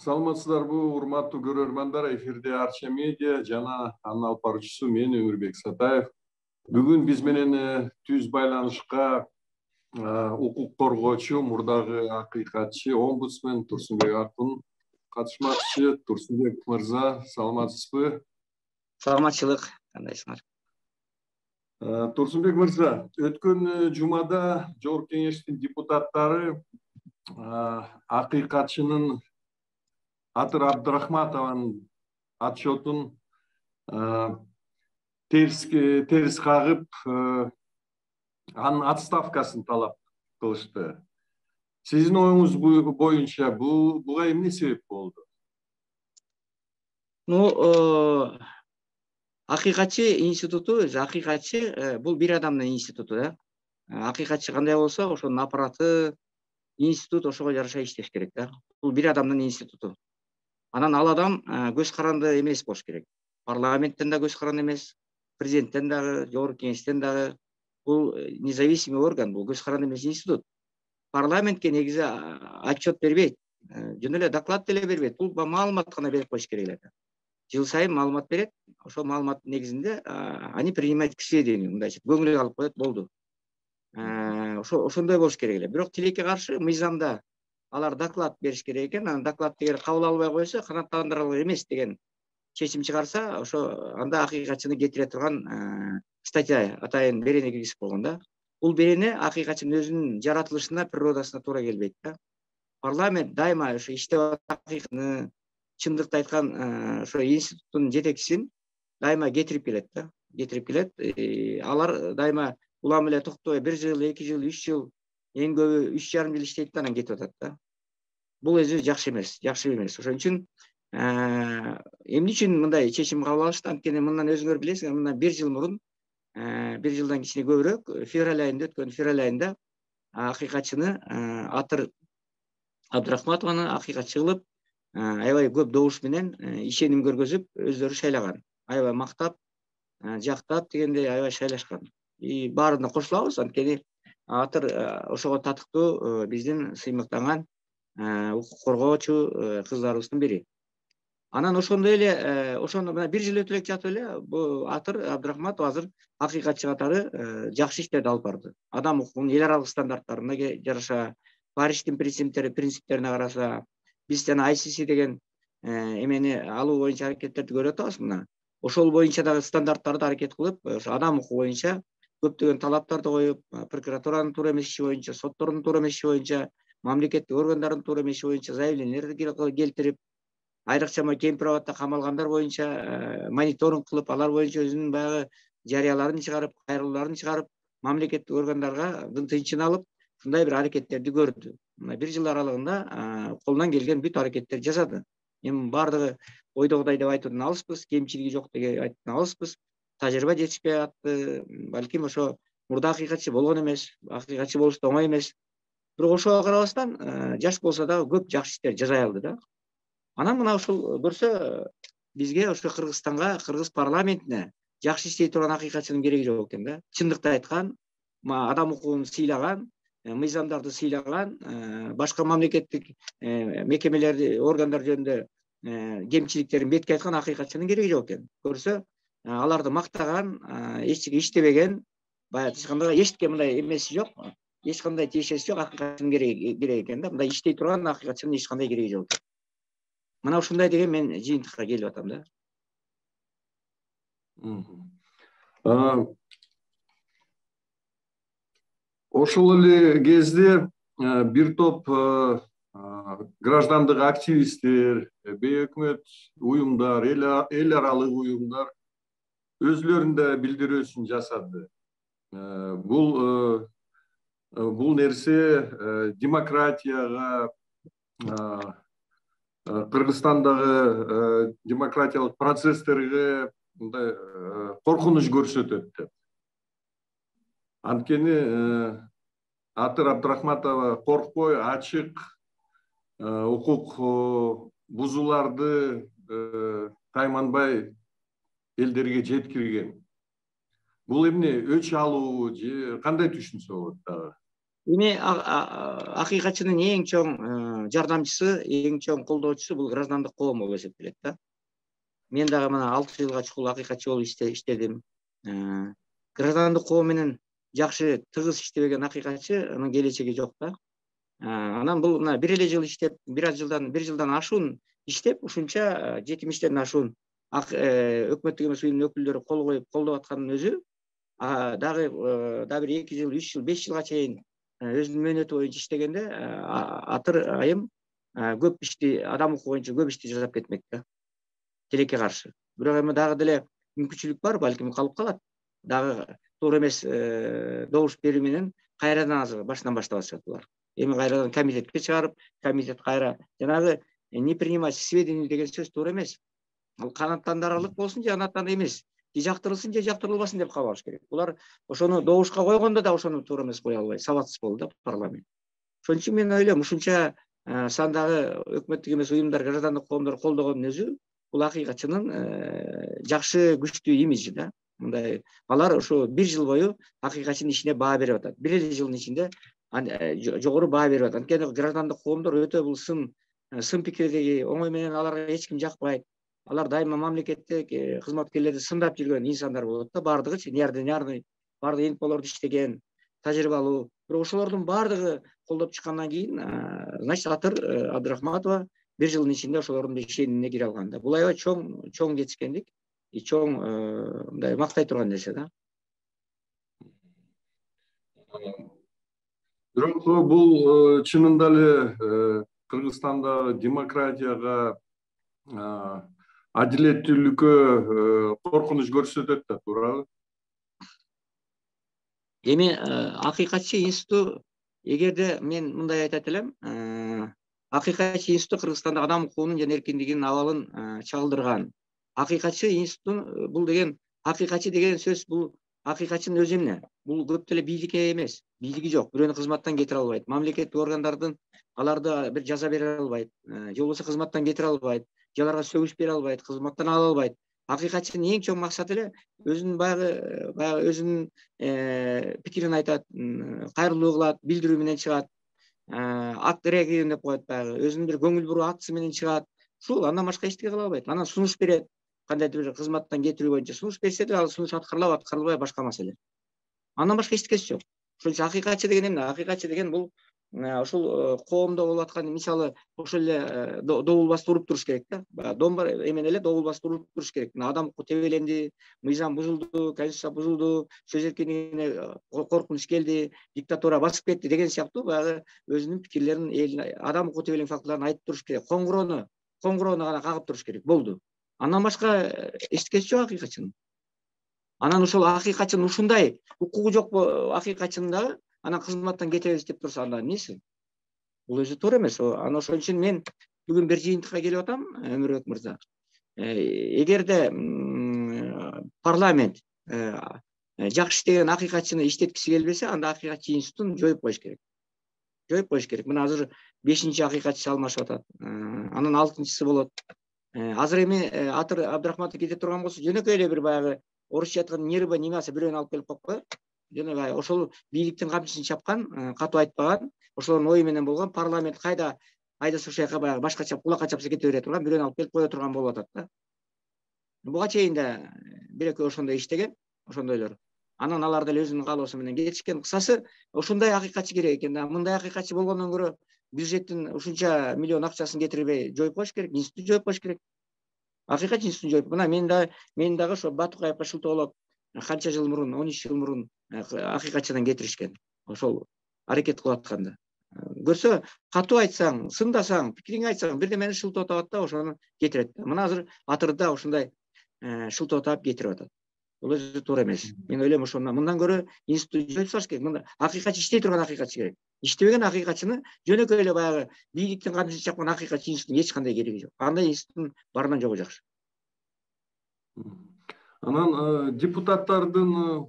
Саламатсыздарбы, урматтуу көрөрмандар, эфирде Арча медиа жана анын алып баруучусу мен Өмүрбек Сатаев. Бүгүн биз менен түз байланышка укук коргоочу, мурдагы акыйкатчы, омбудсмен Турсунбек Акын катышмакчы. Турсунбек мырза, саламатсызбы? Саламатчылык, кандайсыңар? Турсунбек мырза, өткөн жумада Жогорку Кеңештин депутаттары акыйкатчынын Атыр Абдрахматованын отчетун терс кагып, анын отставкасын талап кылышты. Сиздин оюңуз боюнча буга эмне себеп болду? Акыйкатчы институту, акыйкатчы бул бир адамдын институту да. Акыйкатчы кандай болсо, ошонун аппараты, институт ошого жараша иштеш керек да. Бул бир адамдын институту. Анан ал адам көз каранды эмес болуш керек. Парламенттен да көз каранды эмес, президенттен дагы, Жогорку Кеңештен дагы. Бул независимый орган, бул көз каранды эмес институт. Парламентке негизи отчет бербейт, жөн эле доклад деле бербейт. Бул маалымат гана берип коюш керек эле. Жыл сайын маалымат берет, ошол маалыматтын негизинде они принимают к сведению, мындайча көңүлгө алып коет, болду. Ошондой болуш керек эле. Бирок тилекке каршы мыйзамда алар доклад бериш керек экен, анан докладды эгер кабыл албай койсо, канааттандырылган эмес деген чечим чыгарса, ошо анда акыйкатчыны кетире турган статья атайын берене киргизип койгон да. Бул берене акыйкатчынын өзүнүн жаратылышына, природасына туура келбейт да. Парламент дайыма ошо иштеп акыйкатны, чындыкты айткан ошо институттун жетекчисин дайыма кетирип келет да. Кетирип келет. Алар дайыма улам эле токтобой 1 жыл, 2 жыл, 3 жыл, эң көбү 3,5 жыл иштейт да, анан кетип атат да. Бул өзү жакшы эмес, Ошон үчүн эмне үчүн мындай чечим кабыл алышты? Анткени мындан өзүңөр билесиңер, мындан 1 жыл мурун, 1 жылдан кичине көбүрөөк, февраль айында акыйкатчыны Атыр Абдрахматованы акыйкатчы кылып, аябай көп добуш менен ишеним көргөзүп, өздөрү шайлаган. Аябай мактап, жактап дегендей аябай шайлашкан. Баарына кошулабыз, анткени Атыр ошого татыктуу биздин сыймыктанган укук коргоочу кыздарыбыздын бири. Анан ошондой эле, ошондо мына 1 жыл өтө элек жатып эле, бул Атыр Абдрахматов азыр акыйкатчы катары жакшы иштерди алып барды. Адам укугунун эл аралык стандарттарына жараша, Париштин принциптерине караса, биз жана ICC деген эмени алуу боюнча аракеттерди көрүп атабыз мына. Ошол боюнча дагы стандарттарды аракет кылып, ошо адам укугу боюнча көптөгөн талаптарды коюп, прокуратуранын туура эмес иши боюнча, соттордун туура эмес иши боюнча, мамлекеттик органдардын туура эмес иши боюнча заявлениялерди келтирип, айрыкча кемпир абадда камалгандар боюнча мониторинг кылып, алар боюнча өзүнүн баягы жарыяларын чыгарып, кайрылууларын чыгарып, мамлекеттик органдарга тынчын алып, ушундай бир аракеттерди көрдү. Мына 1 жыл аралыгында колунан келген бүт аракеттерди жасады. Эми бардыгы ойдогудай деп айтуудан алыспыз, кемчилиги жок деп айтуудан алыспыз. Тажрыйба жетишпей атты, балким ошо мурда акыйкатчы болгон эмес, акыйкатчы болуш да оңой эмес. Бирок ошого карабастан жаш болсо дагы көп жакшы иштер жасай алды да. Анан мына ушул көрсө, бизге ошо Кыргызстанга, кыргыз парламентине жакшы иштей турган акыйкатчынын кереги жок экен да. Чындыкты айткан, адам укугун сыйлаган, мыйзамдарды сыйлаган, башка мамлекеттик мекемелерди, органдар жөнүндө кемчиликтерин бетке айткан акыйкатчынын кереги жок экен. Көрсө, аларды мактаган, эч иштебеген, баягы ачканда эчке мындай эмеси жок, эч кандай тиешеси жок акыйкатчынын кереги экен да. Мындай иштей турган акыйкатчынын эч кандай кереги жок. Мына ушундай деген мен жыйынтыкка келип атам да. Ошол эле кезде бир топ граждандык активисттер, бейөкмөт уюмдар, эл аралык уюмдар өзлөрүнүн билдирүүсүн жасады. Бул нерсе демократияга, Кыргызстандагы демократиялык процесстерге мындай коркунуч көрсөтөт деп. Анткени Атыр Абдрахматова коркпой, ачык укук бузууларды тайманбай элдерге жеткирген. Бул эмне, өч алуу же кандай түшүнсө болот дагы? эми акыйкатчынын эң чоң жардамчысы, эң чоң колдоочусу бул граждандык коом болуп эсептелет да. Мен дагы мына 6 жылга чукул акыйкатчы болуп иштедим. Граждандык коом менен жакшы тыгыз иштебеген акыйкатчынын келечеги жок да. Анан бул мына бир эле жыл иштеп, бир жылдан ашуун иштеп, ушунча 70 ашуун өкмөттүк эмес уюмдун өкүлдөрү кол коюп колдоп аткандын өзү дагы бир 2 жыл, 3 жыл, 5 жылга чейин өзүнүн мөөнөтү боюнча иштегенде атыр айым көп ишти, адам укугу боюнча көп ишти жасап кетмек да, тилекке каршы. Бирок эми дагы деле мүмкүнчүлүк бар, балким калып калат. Дагы туура эмес добуш берүү менен кайрадан азыр башынан баштабашат булар. Эми кайрадан комитетке чыгарып, комитет кайра жанагы не принимать к сведению деген сөз туура эмес. Ал канааттандырарлык болсун же канааттанды эмес, же жактырылсын же жактырылбасын деп кабыл алыш керек. Булар ошону добушка койгондо да ошону туура эмес кое албайт, сабатсыз болду да парламент. Ошон үчүн мен ойлойм, ушунча сандагы өкмөттүк эмес уюмдар, граждандык коомдор колдогондун өзү бул акыйкатчынын жакшы күчтүү имиджи да. Мындай алар ошо бир жыл бою акыйкатчынын ишине баа берип атат. Бир эле жылдын ичинде жогору баа берип атат. Анткени граждандык коомдор өтө бул сын пикирдеги, оңой менен аларга эч ким жакпайт. Алар дайыма мамлекеттик кызматкерлерди сындап жүргөн инсандар болот да, баардыгычы неординарный, баардыгы инфолордо иштеген, тажрыйбалуу. Бирок ошолордун баардыгы колдоп чыккандан кийин, значит, Атыр Абдрахматова бир жылдын ичинде ошолордун ишенимине кире алган да. Бул аябай чоң жетишкендик, чоң мындай мактай турган нерсе да. Бирок бул чынында эле Кыргызстанда демократияга, адилеттүүлүккө коркунуч көрсөтөт да, туурабы? Эми акыйкатчы институту, эгерде мен мындай айтат элем, акыйкатчы институту Кыргызстанда адам укугунун жана эркиндигинин абалын чагылдырган. Акыйкатчы институтун бул деген, акыйкатчы деген сөз бул акыйкатчынын өзү эмне? Бул көп деле бийликке эмес, бийлиги жок, бирөөнү кызматтан кетире албайт, мамлекеттик органдардын аларды бир жаза бере албайт, же болбосо кызматтан кетире албайт, же аларга сөгүш бере албайт, кызматтан ала албайт. Акыйкатчынын эң чоң максаты эле өзүнүн баягы өзүнүн пикирин айтат, кайрылуу кылат, билдирүү менен чыгат, акт реагируем деп коет, баягы өзүнүн бир көңүл буруу акцысы менен чыгат. Ушул андан башка эчтеке кыла албайт. Анан сунуш берет, кандайдыр бир кызматтан кетирүү боюнча сунуш берсе деле ал сунуш аткарылабы, аткарылбайбы башка маселе. Андан башка эчтекеси жок. Ошон үчүн акыйкатчы деген эмне? Акыйкатчы деген бул ушул коомдо болуп аткан, мисалы, ошол эле добул басып уруп туруш керек да. Домбар эмен эле добул басып уруп туруш керек. Адам укугу тебеленди, мыйзам бузулду, конституция бузулду, сөз эркиндигине коркунуч келди, диктатура басып кетти деген сыяктуу баягы өзүнүн пикирлерин элине, адам укугу тебелеген фактыларын айтып туруш керек. Коңгуроону гана кагып туруш керек. Болду. Андан башка эчтекеси жок акыйкатчынын. Анан ошол акыйкатчынын ушундай укугу жок акыйкатчынын дагы анан кызматтан кетебиз деп турса, анда эмнеси? Бул өзү туура эмес. Анан ошон үчүн мен бүгүн бир жыйынтыкка келип атам, Өмүрбек мырза. Эгерде парламент жакшы иштеген акыйкатчыны иштеткиси келбесе, анда акыйкатчы институтун жоюп коюш керек. Жоюп коюш керек. Мына азыр 5-чи акыйкатчы алмашып атат. Анан 6-чысы болот. Азыр эми Атыр Абдрахматов кете турган болсо, жөнөкөй эле бир баягы орусча айтканда нервы немасы бирөөнү алып келип коюп коет. Жана ошол бийликтин камчысын чапкан, катуу айтпаган, ошолордун ою менен болгон, парламент кайда айдаса ошол жака баягы башкача кулакка чапса кете бере турган бирөөнү алып келип кое турган болуп атат да. Буга чейин да бир экөө ошондой иштеген, ошондойлор. Анан алар деле өзүнүн каалоосу менен кетишкен. Кысасы, ошондой акыйкатчы керек экен да. Мындай акыйкатчы болгондон көрө бюджеттин ушунча миллион акчасын кетирбей жоюп коюш керек, институт жоюп коюш керек. Акыйкатчы институтун жоюп. Мына мен дагы ошо Батукаевка шылтоолоп, канча жыл мурун, 13 жыл мурун акыйкатчыдан кетиришкен. Ошол аракет кылып атканда. Көрсө, катуу айтсаң, сындасаң, пикириңди айтсаң, бирдемени шылтоотуп атат да, ошону кетирет. Мына азыр Атырда ушундай шылтоотуп кетирип атат. Бул өзү туура эмес. Мен ойлойм, ошондон мындан көрө институт жоюп салыш керек. Мында акыйкатчы иштей турган акыйкатчы керек. Иштебеген акыйкатчыны жөнөкөй эле баягы бийликтин камчысын чапкан акыйкатчы институттун эч кандай кереги жок. Андай институттун барынан жогу жакшы. Анан депутаттардын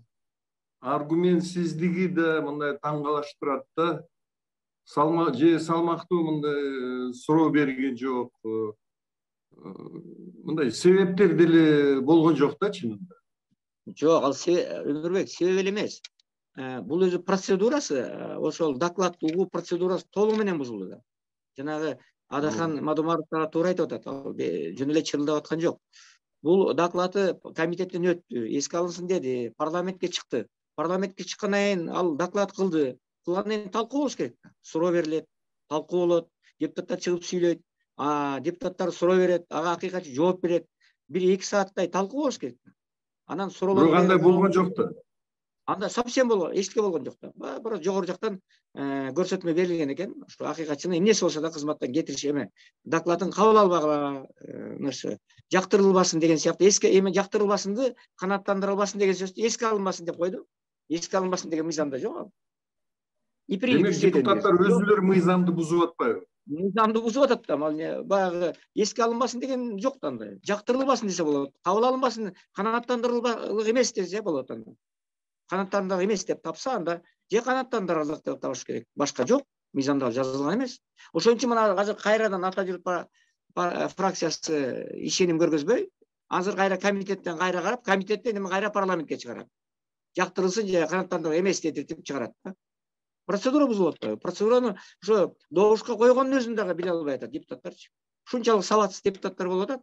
аргументсиздиги да мындай таң калыштырат да. Салмактуу мындай суроо берген жок. Мындай себептер деле болгон жок да чынында. Жок, ал Өмүрбек себеп эле эмес. бул өзү процедурасы, ошол доклад угуу процедурасы толугу менен бузулду. Жанагы Адахан Мадумаров туура айтып атат, ал жөн эле чырылдап аткан жок. Бул доклады комитеттен өттү, эске алынсын деди, парламентке чыкты. Парламентке чыккандан кийин ал доклад кылды. Кылгандан кийин талкуу болуш керек. Суроо берилет, талкуу болот, депутаттар чыгып сүйлөйт, депутаттар суроо берет, ага акыйкатчы жооп берет. 1-2 сааттай талкуу болуш керек. Анан суроолор бирок андай болгон жок да. Анда совсем эчтеке болгон жок да. Бирок жогору жактан көрсөтмө берилген экен. Ушу акыйкатчыны эмнеси болсо да кызматтан кетириш докладын кабыл албагыла, жактырылбасын деген сыяктуу жактырылбасынды канааттандырылбасын деген сөздү эске алынбасын деп койду. Эске алынбасын деген мыйзамда жок ал. Демек депутаттар өзүлөрү мыйзамды бузуп атпайбы? Мыйзамды бузуп атат да, баягы эске алынбасын деген жок да андай. Жактырылбасын десе болот. Кабыл алынбасын, канааттандырылбалык эмес десе болот анда. Канааттандырылык эмес деп тапса, анда же канааттандырылык деп табыш керек. Башка жок, мыйзамда жазылган эмес. Ошон үчүн мына азыр кайрадан Ата журт фракциясы ишеним көргөзбөй, азыр кайра комитеттен кайра карап, комитеттен эми кайра парламентке чыгарат. Жактырылсын же канааттандырылык эмес деп чыгарат да. Процедура бузулуп атпайбы? Процедураны ошо добушка койгондун өзүн дагы биле албай атат депутаттарчы. Ушунчалык сабатсыз депутаттар болуп атат.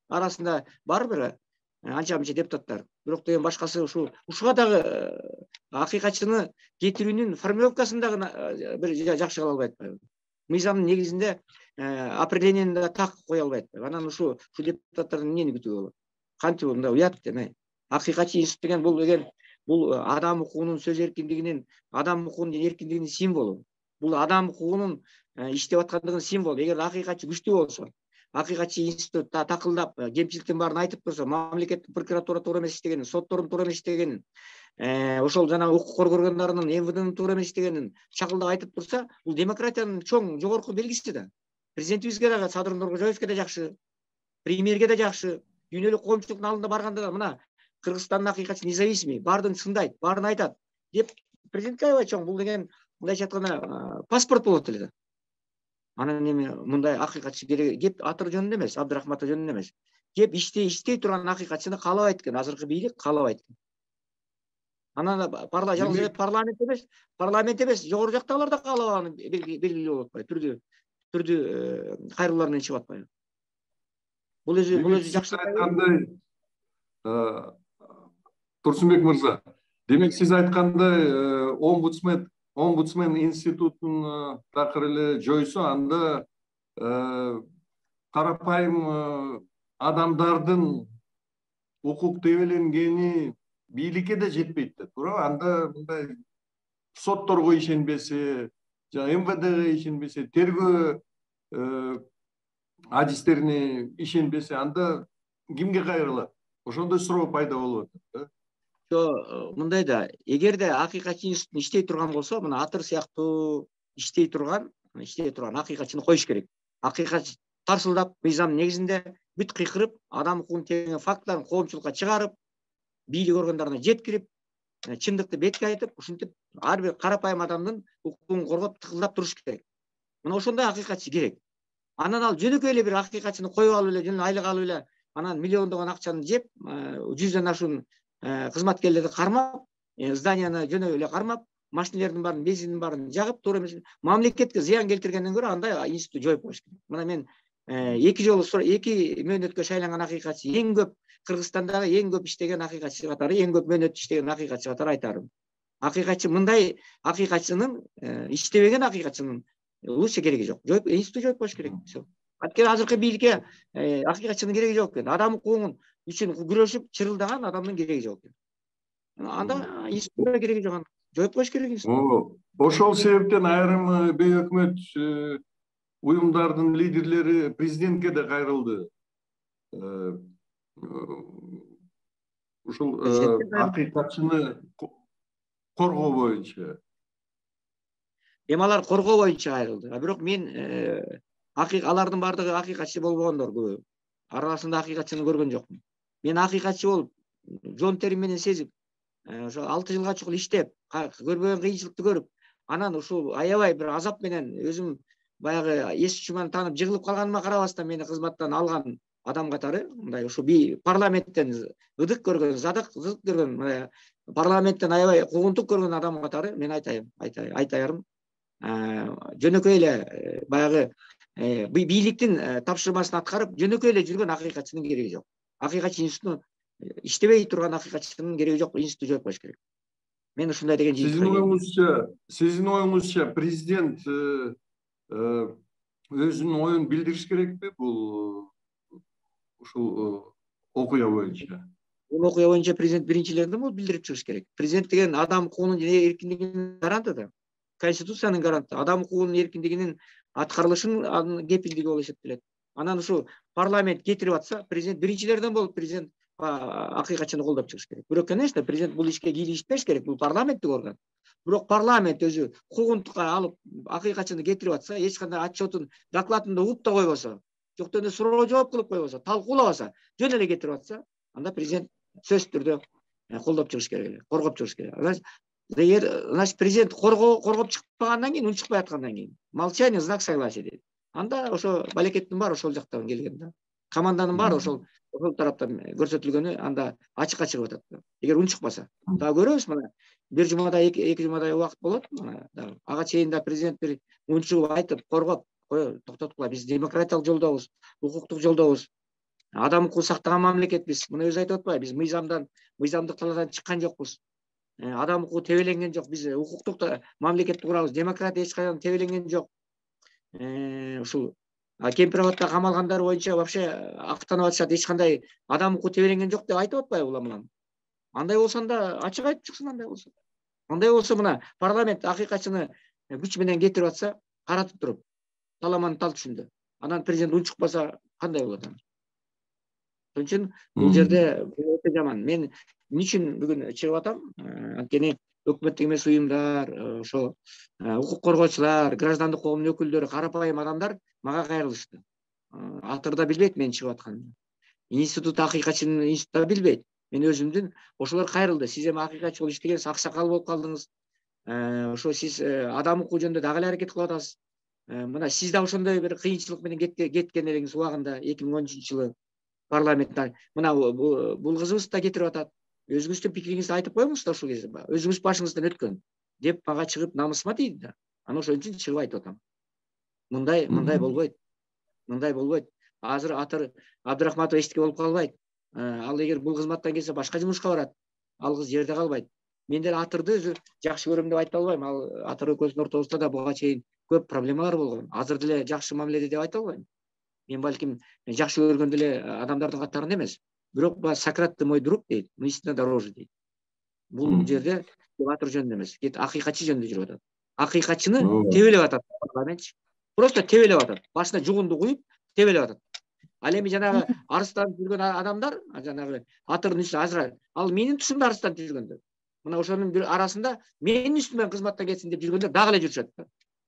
Арасында бар бир анча-мынча депутаттар. Бирок деген башкасы ушуга дагы акыйкатчыны кетирүүнүн формулировкасын дагы бир жакшы кыла албай атпайбы? Мыйзамдын негизинде определениени да так кое албай атпайбы? Анан ушу депутаттардан эмнени күтүүгө болот? Кантип мындай уят эме? Акыйкатчы институт деген бул адам укугунун сөз эркиндигинин, адам укугунун эркиндигинин символу. Бул адам укугунун иштеп аткандыгынын символу. Эгер акыйкатчы күчтүү болсо, акыйкатчы институт такылдап, кемчиликтин баарын айтып турса, мамлекеттик прокуратура туура эмес иштегенин, соттордун туура эмес иштегенин, ошол жана укук коргоо органдарынын, МВДнын туура эмес иштегенин чакылдап айтып турса, бул демократиянын чоң жогорку белгиси да. Президентибизге дагы, Садыр Нуркожоевке да жакшы, премьерге да жакшы, дүйнөлүк коомчулуктун алдына барганда да мына Кыргызстандын акыйкатчы независимый, баардыгын сындайт, баарын айтат деп президентке аябай чоң, бул деген мындайча айтканда паспорт болот эле да. Анан эми мындай акыйкатчы керек, кеп Атыр жөнүндө эмес, Абдрахматов жөнүндө эмес. Кеп иштей турган акыйкатчыны каалабайт экен, азыркы бийлик каалабайт экен. Анан жалгыз парламент эмес, жогору жактагылар да каалабаганы белгилүү болуп атпайбы, түрдүү кайрылуулар менен чыгып атпайбы? Бул өзү жакшы айткандай, Турсунбек мырза, демек сиз айткандай омбудсмен институтун такыр эле жойсо, анда карапайым адамдардын укук тебеленгени бийликке да жетпейт да, туурабы? Анда мындай сотторго ишенбесе, жана МВДге ишенбесе, тергөө адистерине ишенбесе, анда кимге кайрылат? Ошондой суроо пайда болуп атат да. Мындай да, эгерде акыйкатчы институт иштей турган болсо, мына Атыр сыяктуу иштей турган акыйкатчыны коюш керек. Акыйкатчы тарсылдап, мыйзам негизинде бүт кыйкырып, адам укугун тегеген фактыларын коомчулукка чыгарып, бийлик органдарына жеткирип, чындыкты бетке айтып, ушинтип ар бир карапайым адамдын укугун коргоп, тыкылдап туруш керек. Мына ошондой акыйкатчы керек. Анан ал жөнөкөй эле бир акыйкатчыны коюп алып эле, жөн айлык алып эле, анан миллиондогон акчаны жеп, 100дөн ашуун кызматкерлерди кармап, зданияны жөнөй эле кармап, машинелердин баарын, бензиндин баарын жагып, туура эмес мамлекетке зыян келтиргенден көрө андай институт жоюп коюш керек. Мына мен 2 мөөнөткө шайланган акыйкатчы, эң көп Кыргызстандагы эң көп иштеген акыйкатчы катары, эң көп мөөнөт иштеген акыйкатчы катары айтарым. Акыйкатчы мындай акыйкатчынын, иштебеген акыйкатчынын лучше кереги жок. Институт жоюп коюш керек. Анткени азыркы бийликке акыйкатчынын кереги жок экен. Адам укугунун үчүн күрөшүп чырылдаган адамдын кереги жок экен. Анда институтка кереги жок, жоюп коюш керек институт. Ошол себептен айрым бейөкмөт уюмдардын лидерлери президентке да кайрылды. Ушул акыйкатчыны коргоо боюнча. Эми алар коргоо боюнча кайрылды. Бирок мен алардын баардыгы акыйкатчы болбогондор көбү. Арасында акыйкатчыны көргөн жокмун. Мен акыйкатчы болуп, жон терим менен сезип, ошо 6 жылга чукул иштеп, көрбөгөн кыйынчылыкты көрүп, анан ушул аябай бир азап менен өзүм баягы эс учуман таанып жыгылып калганыма карабастан мени кызматтан алган адам катары, мындай ушу парламенттен ыдык көргөн, зыдык көргөн парламенттен аябай куугунтук көргөн адам катары мен айтаярым, жөнөкөй эле баягы бийликтин тапшырмасын аткарып жөнөкөй эле жүргөн акыйкатчынын кереги жок. Акыйкатчы институту иштебей турган акыйкатчынын кереги жок, институту жойуп коюш керек. Мен ушундай деген Сиздин оюңузча президент өзүнүн оюн билдириш керекпи бул ушул окуя боюнча? Бул окуя боюнча президент биринчилерден болуп билдирип чыгыш керек. Президент деген адам укугунун эркиндигинин гаранты да. Конституциянын гаранты, адам укугунун эркиндигинин аткарылышынын кепилдиги болуп эсептелет. Анан ушу парламент кетирип атса, президент биринчилерден болуп президент акыйкатчыны колдоп чыгыш керек. Бирок, конечно, президент бул ишке кийлигишпеш керек, бул парламенттик орган. Бирок парламент өзү куугунтукка алып акыйкатчыны кетирип атса, эч кандай отчетун, докладында угуп да койбосо, жоктон эле суроо жооп кылып койбосо, талкуулабаса, жөн эле кетирип атса, анда президент сөзсүз түрдө колдоп чыгыш керек эле, коргоп чыгыш керек. Значит, президент коргоп чыкпагандан кийин, унчукпай аткандан кийин, молчание знак согласия дейт. Анда ошо балекеттин баары ошол жактан келген да. Команданын баары ошол тараптан көрсөтүлгөнү анда ачыкка чыгып атат. Эгер унчукпаса, дагы көрөбүз мына. Бир жумадай, эки жумадай убакыт болот. Ага чейин да президент бир унчугуп айтып, коргоп, токтоткула, биз демократиялык жолдобуз, укуктук жолдобуз. Адам укугун сактаган мамлекетпиз. Муну өзү айтып атпайбы? Биз мыйзамдык талаадан чыккан жокпуз. Адам укугу тебеленген жок. Биз укуктук мамлекетти курабыз. Демократия эч качан тебеленген жок. Ушул кемпир абадда камалгандар боюнча вообще актанып атышат. Эч кандай адам укугу тебеленген жок деп айтып атпайбы улам? Андай болсо анда ачык айтып чыксын, андай болсо. Андай болсо мына парламент акыйкатчыны күч менен кетирип атса, каратып туруп, таламанын тал түшүндө. Анан президент унчукпаса кандай болот анда? Ошон үчүн бул жерде өтө жаман. Мен эмне үчүн бүгүн чыгып атам? Анткени өкмөттүк эмес уюмдар, ошо укук коргоочулар, граждандык коомдун өкүлдөрү, карапайым адамдар мага кайрылышты. Атыр да билбейт мен чыгып атканымды. Институт акыйкатчынын института билбейт. Мен өзүмдүн ошолор кайрылды. Сиз эми акыйкатчы болуп иштегенсиз, аксакал болуп калдыңыз. Ошо сиз адам укугу жөнүндө дагы эле аракет кылып атасыз. Мына сиз да ошондой бир кыйынчылык менен кеткен элеңиз убагында 2013-жылы парламенттен. Мына бул кызыбыз да кетирип атат. Өзүңүздүн пикириңизди айтып коюңуз да ушул кезде. Өзүңүз башыңыздан өткөн деп мага чыгып намысыма тийди да. Анан ошон үчүн чыгып айтып атам. Мындай болбойт. Мындай болбойт. Азыр Атыр Абдрахматов эчтеке болуп калбайт. Ал эгер бул кызматтан келсе башка жумушка барат. Ал кыз жерде калбайт. Мен деле Атырды өзү жакшы көрөм деп айта албайм. Ал Атыр экөөбүздүн ортобузда да буга чейин көп проблемалар болгон. Азыр деле жакшы мамиледе деп айта албайм. Мен балким жакшы көргөн деле адамдардын катарында эмес. Бирок Сократ ты мой друг дейт, но истина дороже дейт. Бул жерде Атыр жөнүндө эмес, акыйкатчы жөнүндө жүрүп атат. Акыйкатчыны тебелеп атат парламент. Просто тебелеп атат. Башына жугунду куюп тебелеп атат. Ал эми жанагы арыстанып жүргөн адамдар, жанагы Атырдын үстүнө азыр ал менин тушумда арыстанып жүргөндөр. Мына ошонун бир арасында менин үстүмөн кызматтан кетсин деп жүргөндөр дагы эле жүрүшөт.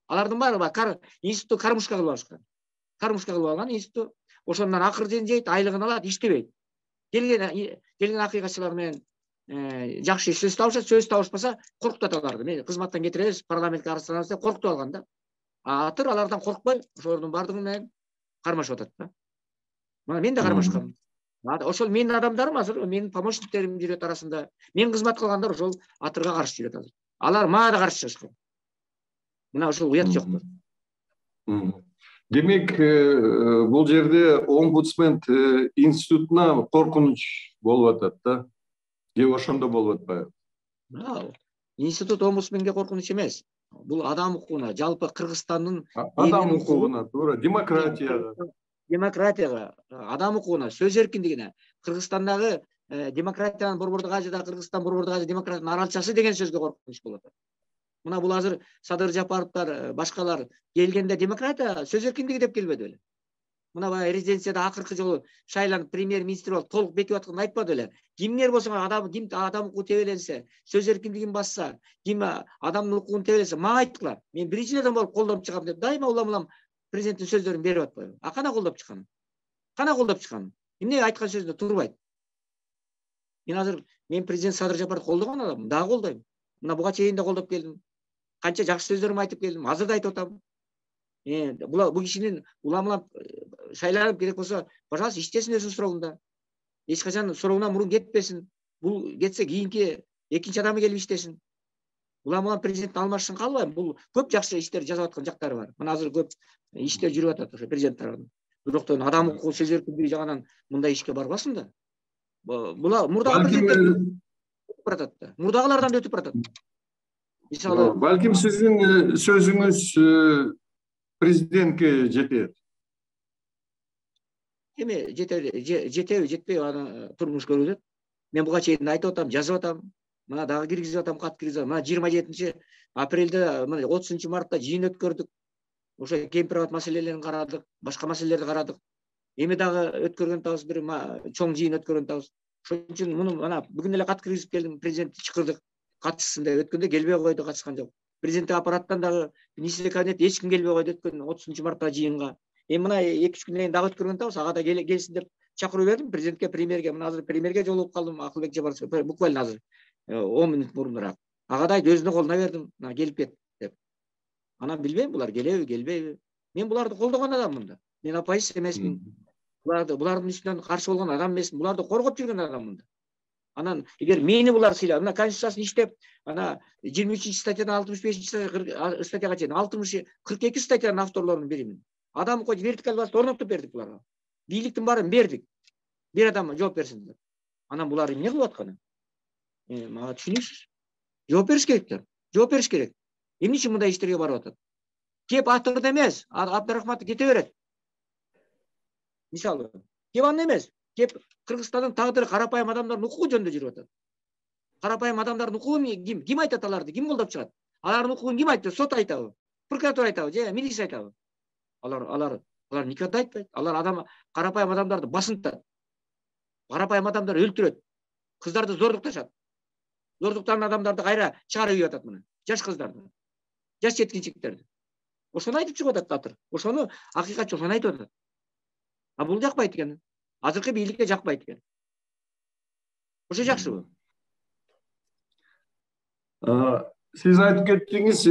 Алардын баары институтту кармушка кылып алышкан. Кармушка кылып алган институт ошондон акырын жейт, айлыгын алат, иштебейт. Келген акыйкатчылар менен жакшы сөз табышат, сөз табышпаса коркутат аларды. Мен кызматтан кетиребиз, парламентке арызданабыз деп коркутуп алган да. Атыр алардан коркпой, ошолордун бардыгы менен кармашып атат да. Мына мен да кармашкам. Ошол менин адамдарым азыр, менин помощниктерим жүрөт арасында. Мен кызмат кылгандар ошол Атырга каршы жүрөт азыр. Алар мага да каршы чыгышкан. Мына ошол уят жокпу? Демек, бул жерде омбудсмен институтуна коркунуч болуп атат да. Же ошондо болуп атпайбы? Институт омбудсменге коркунуч эмес. Бул адам укугуна, жалпы Кыргызстандын адам укугуна, туура, демократияга, адам укугуна, сөз эркиндигине, Кыргызстандагы демократиянын борбордук ажыда, Кыргызстан борбордук ажы демократиянын аралчасы деген сөзгө коркунуч болуп атат. Мына бул азыр Садыр Жапаровдор, башкалар келгенде демократия, сөз эркиндиги деп келбеди беле. Мына баягы резиденцияда акыркы жолу шайланып премьер-министр болуп толук бекип атканын айтпады беле. Кимдер болсо ким адам укугу тебеленсе, сөз эркиндигин басса, ким адамдын укугун тебеленсе, мага айткыла. Мен биринчилерден болуп колдоп чыгам деп дайыма улам президенттин сөздөрүн берип атпайбы? Кана колдоп чыккан? Эмне айткан сөзүндө турбайт? Мен президент Садыр Жапаровду колдогон адаммын, дагы колдойм. Мына буга чейин да колдоп келдим. Канча жакшы сөздөрүмдү айтып келдим, азыр да айтып атам. Бул кишинин улам шайланып керек болсо, пожалуйста, иштесин өзүнүн сурогунда. Эч качан сурогунан мурун кетпесин. Бул кетсе кийинки экинчи адамы келип иштесин. Улам президент алмашсын каалбайм. Бул көп жакшы иштер жасап аткан жактары бар. Мына азыр көп иштер жүрүп атат ошо президент тарабынан. Бирок адам укугу сөз эркиндиги жагынан мындай ишке барбасын да. Була мурдагы президенттер өтүп баратат да. Мурдагылардан да өтүп баратат. Мисалы, балким сиздин сөзүңүз президентке жетет. Эми жетеби, жетпейби аны турмуш көрүлөт. Мен буга чейин айтып атам, жазып атам. Мына дагы киргизип атам, кат киргизип атам. Мына 27 апрелде, мына 30 мартта жыйын өткөрдүк. Ошо кемпир маселелерин карадык, башка маселелерди карадык. Эми дагы өткөргөн атабыз, бир чоң жыйын өткөргөн атабыз. Ошон үчүн муну мына бүгүн эле кат киргизип келдим, президентти чакырдык. Катышсын деп, өткөндө келбей койду, катышкан жок. Президенттик аппараттан дагы министрлер кабинети эч ким келбей койду өткөн 30 марттагы жыйынга. Эми мына 2-3 күндөн кийин дагы өткөргөн атабыз. Ага да келсин деп чакыруу бердим президентке, премьерге. Мына азыр премьерге жолугуп калдым, Акылбек Жапарович, буквально азыр 10 мүнөт мурунураак. Ага да өзүнүн колуна бердим, мына келип кет деп. Анан билбейм булар келеби, келбейби. Мен буларды колдогон адаммын да. Мен оппозиция эмесмин. Булардын үстүнөн каршы болгон адам эмесмин. Буларды коргоп жүргөн адаммын да. Анан эгер мени булар сыйлап, мына конституциясын иштеп, ана 23 статьядан 65 статьяга чейин 42 статьянын авторлорунун биримин. Адам укугу вертикаль власть орноттуп бердик буларга. Бийликтин баарын бердик. Бир адам жооп берсин деп. Анан булар эмне кылып атканы? Мага түшүнүңүз. Жооп бериш керектер. Жооп бериш керек. Эмне үчүн мындай иштерге барып атат? Кеп атырды эмес, Абдрахматов кете берет. Мисалы, кеп аны эмес, кеп Кыргызстандын тагдыры карапайым адамдардын укугу жөнүндө жүрүп атат. Карапайым адамдардын укугун ким айтат аларды? Ким колдоп чыгат? Алардын укугун ким айтты? Сот айтабы? Прокуратура айтабы? Же милиция айтабы? Алар никогда айтпайт. Алар карапайым адамдарды басынтат. Карапайым адамдар өлтүрөт. Кыздарды зордукташат. Зордуктаган адамдарды кайра чыгарып ийип атат мына. Жаш кыздарды. Жаш жеткинчектерди. Ошону айтып чыгып атат Татыр. Ошону акыйкатчы ошону айтып атат. А бул жакпайт экен. Азыркы бийликке жакпайт экен. Ошо жакшыбы? Сиз айтып кеттиңиз,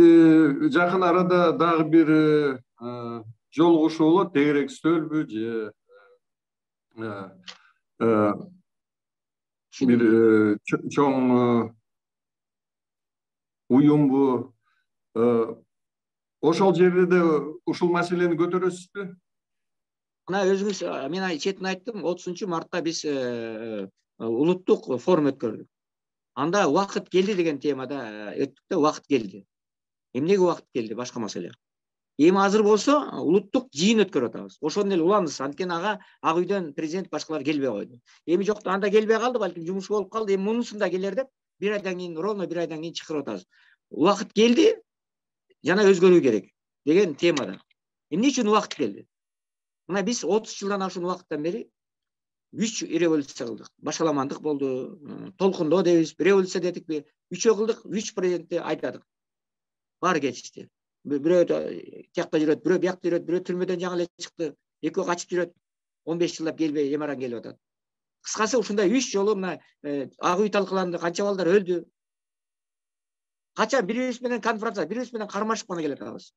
жакын арада дагы бир жолугушуу болот, тегерек стөлбү же бир чоң уюмбу? Ошол жерде да ушул маселени көтөрөсүзбү? Мына өзүңүз, мен четин айттым, 30 мартта биз улуттук форум өткөрдүк. Анда убакыт келди деген темада өттүк да, убакыт келди. Эмнеге убакыт келди? Башка маселе. Эми азыр болсо улуттук жыйын өткөрүп атабыз. Ошону эле уланыбыз. Анткени ага Ак үйдөн президент башкалар келбей койду. Эми жок, анда келбей калды, балким жумуш болуп калды. Эми мунусунда келер деп, бир айдан кийин, ровно бир айдан кийин чакырып атабыз. Убакыт келди, жана өзгөрүү керек деген темада. Эмне үчүн убакыт келди? Мына биз 30 жылдан ашуун убакыттан бери 3 революция кылдык. Башаламандык болду, толкундоо дебиз, революция дедикпи, 3 кылдык, 3 президентти айдадык. Баары кетишти. Бирөө тиякта жүрөт, бирөө биякта жүрөт, бирөө түрмөдөн жаңы эле чыкты, экөө качып жүрөт. 15 жылдап келбей, эмаран келип атат. Кыскасы ушундай 3 жолу мына Ак үй талкыланды, канча балдар өлдү. Кача бирибиз менен конфронтация, бирибиз менен кармашып гана келе атабыз.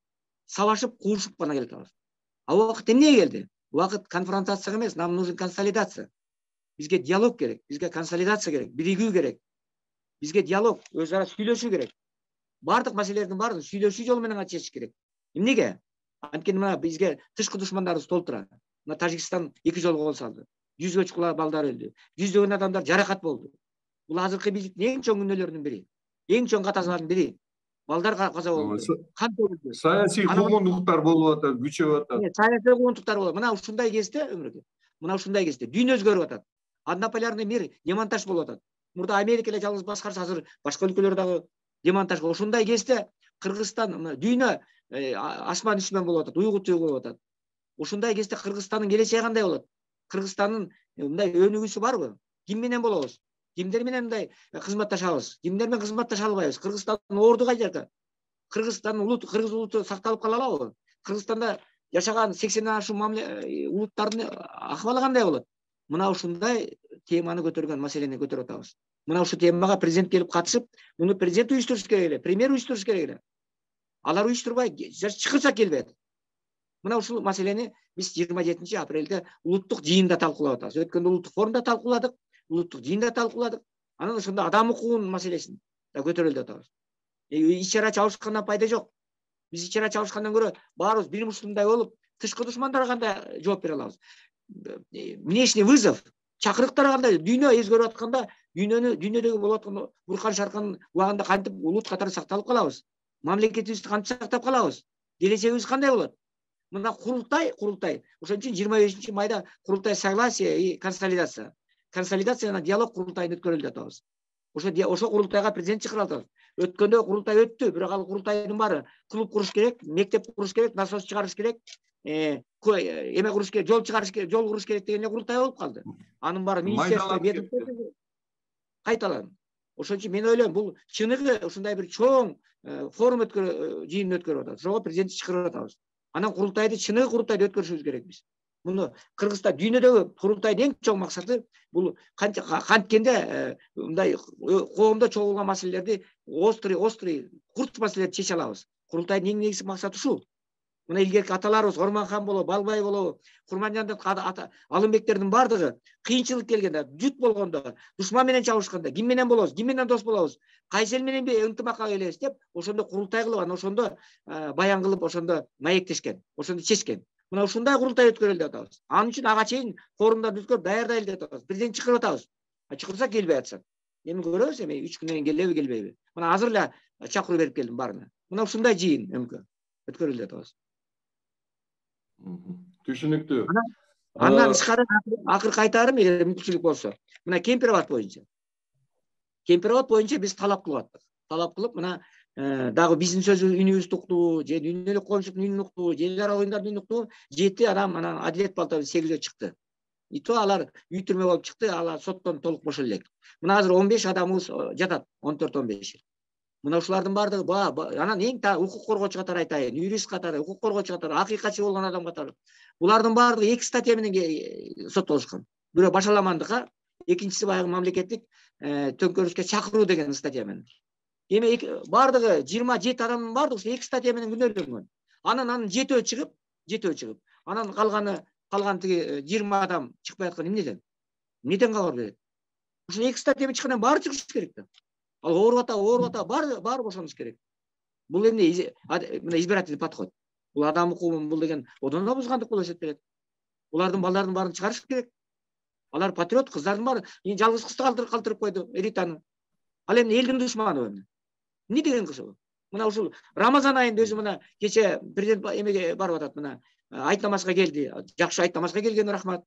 Сабашып, куушуп гана келе атабыз. А убакыт эмнеге келди? Убакыт конфронтацияга эмес, нам нужен консолидация. Бизге диалог керек, бизге консолидация керек, биригүү керек. Бизге диалог, өз ара сүйлөшүү керек. Бардык маселелердин баарын сүйлөшүү жолу менен чечиш керек. Эмнеге? Анткени мына бизге тышкы душмандарыбыз толтура. Мына Тажикстан 2 жолу кол салды. 100гө чукула балдар өлдү. 100дөгөн адамдар жаракат болду. Бул азыркы бийликтин эң чоң күнөөлөрүнүн бири. Эң чоң катазалардын бири. Балдар каза болду. Кан төгүлдү. Саясий куугунтуктар болуп атат, күчөп атат. Саясий куугунтуктар болот. Мына ушундай кезде өмүргө. Мына ушундай кезде дүйнө өзгөрүп атат. Однополярный мир демонтаж болуп атат. Мурда Америка эле жалгыз башкарса, азыр башка өлкөлөр дагы демонтаж. Ушундай кезде Кыргызстан, дүйнө асман үчмөн болуп атат, уйгу туйгу болуп атат. Ушундай кезде Кыргызстандын келечеги кандай болот? Кыргызстандын мындай өнүгүүсү барбы? Ким менен болобуз? Кимдер менен мындай кызматташабыз? Кимдер менен кызматташа албайбыз? Кыргызстандын орду кай жерде? Кыргызстандын улут, кыргыз улуту сакталып кала алабы? Кыргызстанда жашаган 80ден ашуун улуттардын акыбалы кандай болот? Мына ушундай теманы көтөргөн, маселени көтөрүп атабыз. Мына ушул темага президент келип катышып, муну президент уюштуруш керек эле, премьер уюштуруш керек эле. Алар уюштурбай, чакырса келбейт. Мына ушул маселени биз 27 апрелде улуттук жыйында талкуулап атабыз. Өткөндө улуттук форумда талкууладык, улуттук жыйында талкууладык. Анан ошондо адам укугунун маселесин да көтөрөлүп атабыз. Ич чара чабышкандан пайда жок. Биз ич чара чабышкандан көрө баарыбыз бир мушундай болуп, тышкы душмандарга кандай жооп бере алабыз? Внешний вызов, чакырыктар кандай? Дүйнө өзгөрүп атканда, дүйнөдөгү болуп аткан буркан шарканын убагында кантип улут катары сакталып калабыз? Мамлекетибизди кантип сактап калабыз? Келечегибиз кандай болот? Мына курултай, ошон үчүн 25-майда курултай согласие и консолидация жана диалог курултайын өткөрөлүп атабыз. Ошо курултайга президент чакырып атабыз. Өткөндө курултай өттү, бирок ал курултайдын баары клуб куруш керек, мектеп куруш керек, насос чыгарыш керек, эме куруш керек, жол чыгарыш керек, жол куруш керек деген курултай болуп калды. Анын баары министерство кайталанды. Ошон үчүн мен ойлойм, бул чыныгы ушундай бир чоң форум жыйын өткөрүп атабыз. Ошого президентти чакырып атабыз. Анан курултайды чыныгы курултайды өткөрүшүбүз керек биз. Муну Кыргызста дүйнөдөгү курултайдын эң чоң максаты бул канткенде мындай коомдо чогулган маселелерди острый курч маселелерди чече алабыз. Курултайдын эң негизги максаты ушул. Мына илгерки аталарыбыз Орманхан болобу, Балбай болобу, Курманжандын Алымбектердин бардыгы кыйынчылык келгенде, жут болгондо, душман менен чабышканда, ким менен болобуз, ким менен дос болобуз, кайсы эл менен ынтымакка келебиз деп, ошондо курултай кылып, анан ошондо баян кылып, ошондо маектешкен, ошондо чечкен. Мына ушундай курултай өткөрөлүп деп атабыз. Анын үчүн ага чейин форумдарды өткөрүп даярдайлы деп атабыз. Президент чакырып атабыз. Чакырса келбей атышат. Эми көрөбүз, эми 3 күндөн кийин келеби, келбейби. Мына азыр эле чакыруу берип келдим баарына. Мына ушундай жыйын өткөрөлүп деп атабыз. Түшүнүктүү. Андан тышкары акыркы айтарым, эгер мүмкүнчүлүк болсо, мына Кемпир-Абад боюнча биз талап кылып аттык. Талап кылып, мына дагы биздин үнүбүздү уктуу, же дүйнөлүк коомчулуктун үнүн уктуу, же эл аралык оюндардын үнүн уктуу 7 адам анан Адилет палатасы 8 чыкты. И то алар үй түрмө болуп чыкты, алар соттон толук бошоло элек. Мына азыр 15 адамыбыз жатат, 14-15. Мына ушулардын бардыгы анан эң укук коргоочу катары айтайын, юрист катары, укук коргоочу катары, акыйкатчы болгон адам катары. Булардын бардыгы 2 статья менен соттолушкан. Бирөө башаламандыкка, экинчиси баягы мамлекеттик төңкөрүшкө чакыруу деген статья менен. Эми бардыгы 27 адамдын бардыгы ушу 2 статья менен күнөөлөнгөн. Анан 7 чыгып, анан калган тиги 20 адам чыкпай аткан эмнеден? Эмнеден кабар берет? Ушу 2 статья менен чыккандан баары чыгыш керек да. Ал ооруп ата, баары бошоnuш керек. Бул эмне? Мына избирательный подход. Бул адам укугун бул деген одон да бузгандык болуп эсептелет. Булардын балдарын баарын чыгарыш керек. Алар патриот, кыздардын баары жалгыз кызды калтырып койду, Ританы. Ал эми элдин душманы эмне? Эмне деген кыз бул? Мына ушул Рамазан айында өзү мына кече президент эмеге барып атат, мына айт намазга келди. Жакшы айт намазга келген, рахмат.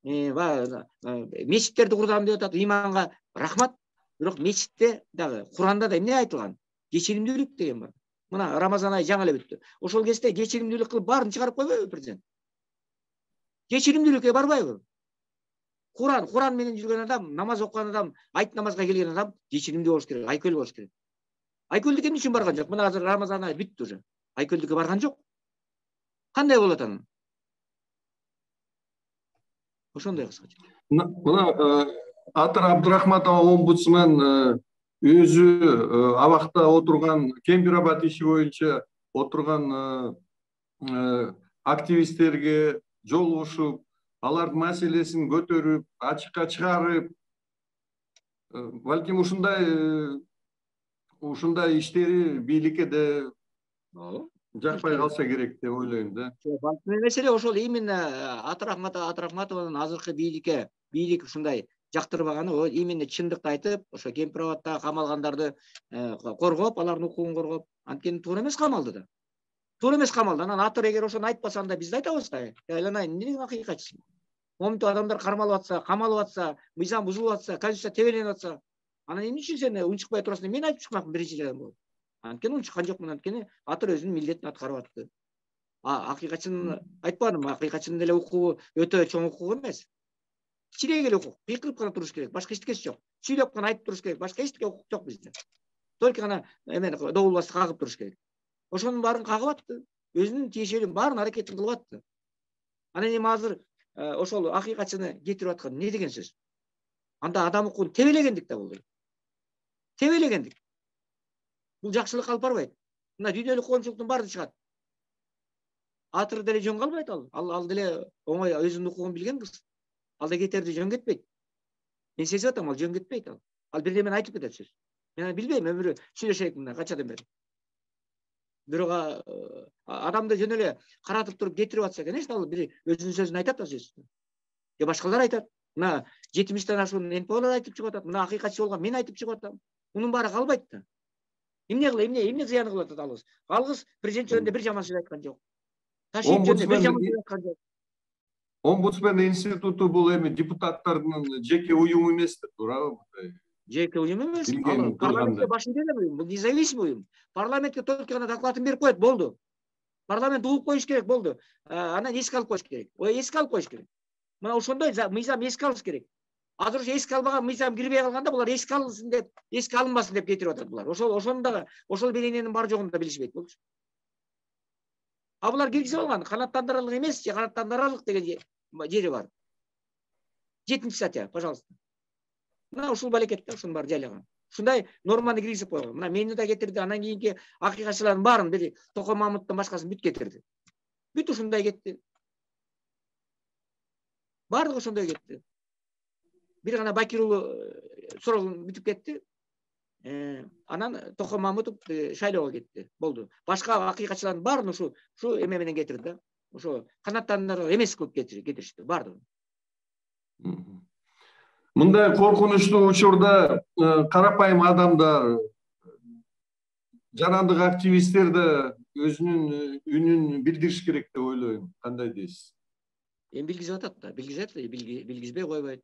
Мечиттерди курдам деп атат, иманга рахмат. Бирок мечитте дагы Куранда да эмне айтылган? Кечиримдүүлүк деген бар. Мына Рамазан айы жаңы эле бүттү. Ошол кезде кечиримдүүлүк кылып баарын чыгарып койбойбу президент? Кечиримдүүлүккө барбайбы? Куран менен жүргөн адам, намаз окуган адам, айт намазга келген адам кечиримдүү болуш керек, айкөл болуш керек. Айкөлдүк эмне үчүн барган жок? Мына азыр Рамазан айы бүттү уже. Айкөлдүккө барган жок. Кандай болот анан? Ошондой кыскача. Мына Атыр Абдурахматова омбудсмен өзү абакта отурган, Кемпир-Абад иши боюнча отурган активисттерге жолугушуп, алардын маселесин көтөрүп, ачыкка чыгарып, балким ушундай иштери бийликке да жакпай калса керек деп ойлойм да. Маселе ошол именно Атыр Ахматованын азыркы бийлик ушундай жактырбаганы, именно чындыкты айтып, ошо Кемпир-Абадта камалгандарды коргоп, алардын укугун коргоп, анткени туура эмес камалды да. Туура эмес камалды. Анан Атыр эгер ошону айтпаса, анда биз да айтабыз да. Айланайын, эмне деген акыйкатчысың? Момунтип адамдар кармалып атса, камалып атса, мыйзам бузулуп атса, конституция тебеленип атса, анан эмне үчүн сен унчукпай турасың деп мен айтып чыкмакмын биринчи жадан болуп. Анткени унчуккан жокмун, анткени Атыр өзүнүн милдетин аткарып атты. Акыйкатчынын айтпадым, акыйкатчынын деле укугу өтө чоң укук эмес. Кичине эле укук, кыйкырып гана туруш керек, башка эчтекеси жок. Сүйлөп гана айтып туруш керек, башка эчтеке укук жок бизде. Только гана эмени добулбасты кагып туруш керек. Ошонун баарын кагып атты. Өзүнүн тиешелүү баарын аракетин кылып атты. Анан эми азыр ошол акыйкатчыны кетирип аткан эмне деген сөз? Анда адам укугун тебелегендик да бул. Тебелегендик. Бул жакшылык алып барбайт. Мына дүйнөлүк коомчулуктун баары чыгат. Атыр деле жөн калбайт ал. Ал деле оңой өзүнүн укугун билген кыз. Ал да кетерди жөн кетпейт. Мен сезип атам, ал жөн кетпейт ал. Ал бирдемени айтып кетет сөз. Мен билбейм, өмүрү сүйлөшөйүк мына канчадан бери. Бирок адамды жөн эле каратып туруп кетирип атса, конечно, ал бир өзүнүн сөзүн айтат да сөз. Же башкалар айтат. Мына 70тен ашуун НПОлор айтып чыгып атат. Мына акыйкатчы болгон мен айтып чыгып атам. Мунун баары калбайт да. Эмне зыяны кылып атат алыс? Алгыз президент жөнүндө бир жаман сөз айткан жок. Ташиев жөнүндө бир жаман сөз айткан жок. Омбудсмен институту бул эми депутаттардын жеке уюму эмес, туурабы? Жеке уюм эмес. Ал парламентке башын берген уюм. Бул независимый уюм. Парламентке только гана докладын берип коет, болду. Парламент угуп коюш керек, болду. Анан эске алып коюш керек. Эске алып коюш керек. Мына ошондой мыйзам эске алыш керек. Азыр ушу эске албаган мыйзам кирбей калганда булар эске алынсын деп, эске алынбасын деп кетирип атат булар. Ошол белененин бар жогун да билишпейт болчу. Булар киргизип алган, канааттандырарлык эмес же канааттандырарлык деген жери бар. 7-чи статья, пожалуйста. Мына ушул балекет да, ушунун баары жайлаган. Ушундай норманы киргизип койгон. Мына мени да кетирди, анан кийинки акыйкатчылардын баарын бир Токой Мамыттын башкасын бүт кетирди. Бүт ушундай кетти. Баардыгы ошондой кетти. Бир гана Бакир уулу сурогун бүтүп кетти. Анан Токой Мамытов шайлоого кетти. Болду. Башка акыйкатчылардын баарын ушу эме менен кетирди да. Ошо канааттандырып эмес кылып кетиришти баардыгы. Мындай коркунучтуу учурда карапайым адамдар, жарандык активисттер да өзүнүн үнүн билдириш керек деп ойлойм. Кандай дейсиз? Эми билгизип атат да, билгизбей койбойт.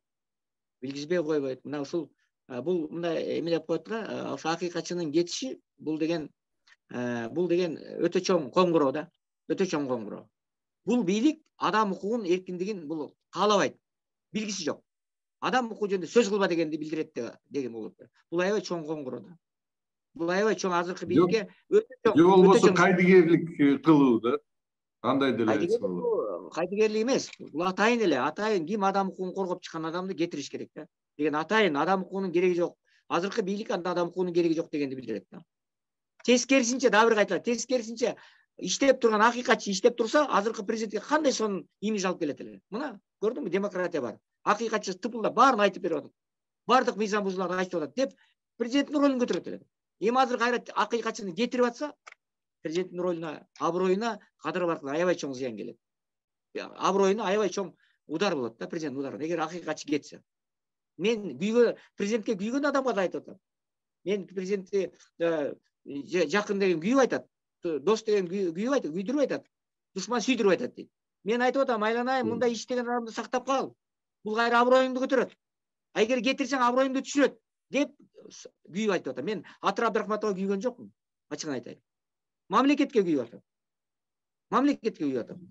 Билгизбей койбойт. Мына ушул бул мындай эме деп коет да, ошо акыйкатчынын кетиши бул деген өтө чоң коңгуроо да, өтө чоң коңгуроо. Бул бийлик адам укугун, эркиндигин бул каалабайт. Билгиси жок. Адам укугу жөнүндө сөз кылба дегенди билдирет деген болот. Бул аябай чоң коңгуроо да. Бул аябай чоң азыркы бийликке өтө чоң. Же болбосо кайдыгерлик кылуу да. Кандай деле айтса болот. Кайдыгерлик эмес. Бул атайын эле, атайын ким адам укугун коргоп чыккан адамды кетириш керек да. Деген атайын адам укугунун кереги жок. Азыркы бийлик адам укугунун кереги жок дегенди билдирет да. Тескерисинче, дагы бир кайталат, тескерисинче иштеп турган акыйкатчы иштеп турса, азыркы президентке кандай сонун имидж алып келет эле. Мына, көрдүңбү, демократия бар. Акыйкатчы тыпылдап баарын айтып берип атат. Бардык мыйзам бузууларды айтып атат деп президенттин ролун көтөрөт эле. Эми азыр кайра акыйкатчыны кетирип атса, президенттин ролуна, аброюна кадырып аркылуу аябай чоң зыян келет. Аброюна аябай чоң удар болот да, президенттин удары. Эгер акыйкатчы кетсе. Мен президентке күйгөн адамга да айтып атам. Мен президентти жакын деген күйүп айтат. Дос деген күйүп айтат, күйдүрүп айтат. Душман сүйдүрүп айтат дейт. Мен айтып атам, айланайын, мындай иштеген адамды сактап кал. Бул кайра аброюңду көтөрөт. Эгер кетирсең аброюңду түшүрөт деп күйүп айтып атам. Мен Атыр Абдрахматова күйгөн жокмун. Ачыгын айтайын. Мамлекетке күйүп атам. Мамлекетке күйүп атам.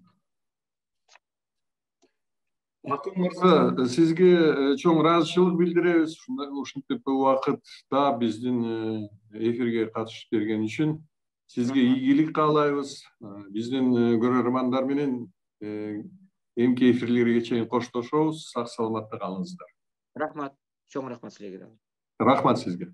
Акын мырза, сизге чоң ыраазычылык билдиребиз. Ушинтип убакытта биздин эфирге катышып берген үчүн сизге ийгилик каалайбыз. Биздин көрөрмандар менен эмки эфирлерге чейин коштошобуз. Сак саламатта калыңыздар. Рахмат. Чоң рахмат силерге. Рахмат сизге.